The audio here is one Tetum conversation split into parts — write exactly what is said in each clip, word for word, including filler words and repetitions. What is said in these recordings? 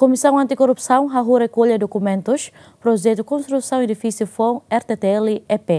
Komisaun Antikorrupsaun hahú rekolla dokumentus projetu konstrusaun edifísiu foun R T T L E P.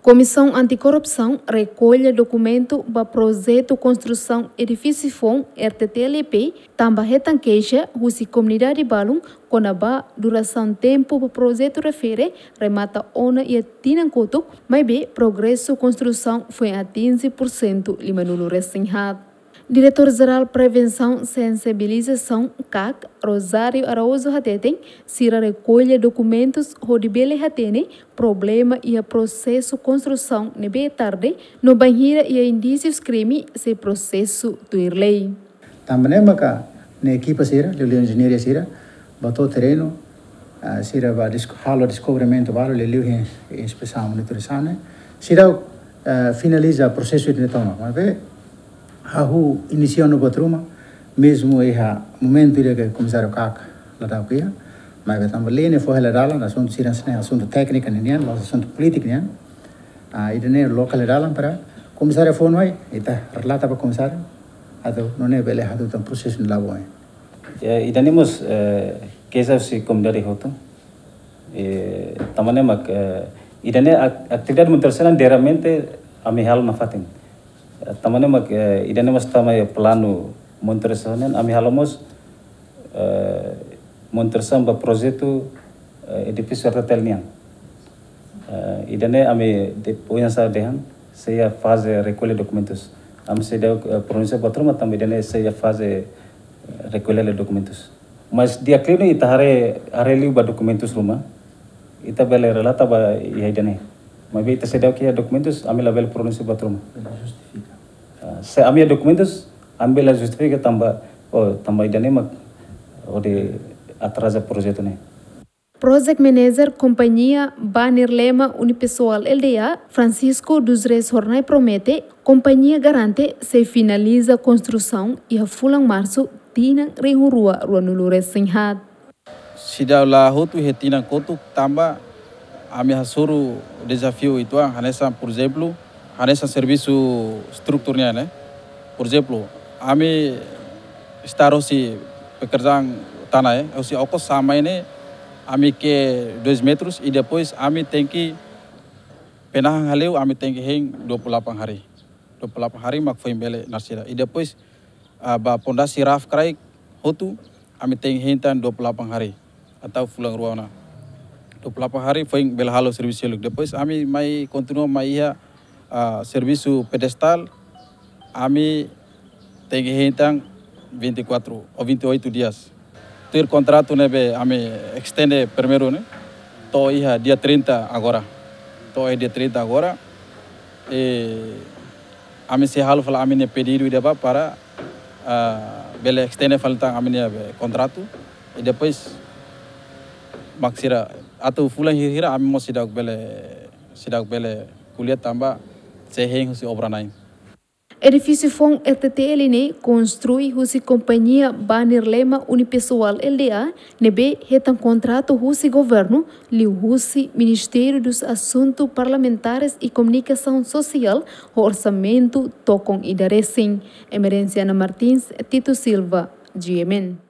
Komisaun Antikorrupsaun rekolla dokumentu ba projetu konstrusaun edifísiu foun R T T L E P, tanba hetan keixa husi komunidade balun kona-ba durasaun tempu ba projetu refere remata ona iha tinan kotuk, maibé progresu konstrusaun foin atinje pursentu limanulu resin haat. Diretór Jerál Prevensaun Sensibilizasaun, kak, Rosário Araújo hateten, sira rekolla dokumentus hodi bele hatene problema iha prosesu konstrusaun ne'ebé tarde, no bainhira iha indísius krime sei prosesu tuir lei. Tanba ne'e maka nia ekipa sira, liuliu enjeñaria sira, ba to'o terrenu, ah, sira ba dis-, halo deskobrimentu balu, liuliu iha inspesaun monitorizasaun ne'e. Sira, ah, finaliza prosesu ida-ne'e tomak. Maibé, hahú inisia ona buat ruma, mezmu iha momentu ida ke komisáriu kak la dau kia, maibé tanba lei ne'e fó hela dalan, asuntu sira-ne'e asuntu tékniku nian, la'ós asuntu polítiku nian. Ah, ida-ne'e loke hela dalan para komisáriu fó ona, ita relata ba komisáriu, atu nune'e bele hatutan prosesu ne'e la'o ba oin. Ya, ida-ne'e mós, eh, keixa husi komunidade hotu. Eh, tanba ne'e mak, eh, ida-ne'e ak-, atividade monitorizasaun diariamente ami halo nafatin. Eh, tanba ne'e mak, eh, ida-ne'e mós tama iha planu monitorizasaun nian, ami halo mós, eh, monitorizasaun ba projetu, eh, edifísiu R T T L nian. Eh, ida-ne'e ami de-, oinsá dehan, sei iha faze rekolla dokumentus. Ami seidauk, eh, pronunsia buat ruma tanba ida-ne'e sei iha faze, eh, rekolla dokumentus. Mas dia klinu ita haree, haree liu ba dokumentus ruma, ita bele relata ba iha ida-ne'e. Maibé ita seidauk iha dokumentus, ami labele pronunsia buat ruma. Bele justifika. Ah, se ami iha dokumentus, ami bele justifika tanba, oh, tanba ida-ne'e mak hodi atraza projetu ne'e. Project Manager Kompañia Banirlema Unipessoal L D A, Francisco dos Reis Hornai promete, kompañia garante sei finaliza konstrusaun iha fulan Marsu tinan rihun rua ruanulu resin haat. Seidauk la hotu iha tinan kotuk tanba ami hasoru dezafiu uitoan, hanesan, por ezemplu, hanesan servisu estrutura nian, ne'e. Por ezemplu, ami start husi pekerjaan tanah, eh, husi okos sampai ne'e, ami ke'e dois metros, i depois ami tenke penahan hale'u, ami tenke hein dua puluh delapan hari. Dua puluh delapan hari mak foin bele narsida. I depois, ah, ba pondasi raf kraik hotu, ami tenke hein tan dua puluh delapan hari atau fulan rua ona. Dua puluh delapan hari foin bele halo servisu seluk. Depois ami mai kontinua mai iha, ah, servisu pedestal, ami tenke hein tan vinte e quatro ou vinte e oito dias. Tuir kontratu ne'ebé ami estende primeiru ne'e, to'o iha dia trinta agora. To'o iha dia trinta agora. I ami sei halo fali ami-nia pedidu ida ba para, ah, bele estende fali tan ami-nia be kontratu. I depois mak sira atu fulan hira-hira ami mós seidauk bele, seidauk bele ko'alia tanba sei hein husi obra-na'in. Edifísiu foun R T T L ne'e konstrui husi kompañia Banirlema Unipessoal L D A, ne'ebé hetan kontratu husi governu, liuhusi Ministério dos Assuntos Parlamentares e Comunicação Social, ho orsamentu tokon ida resin. Emerenciana Martins, Tito Silva, G M N.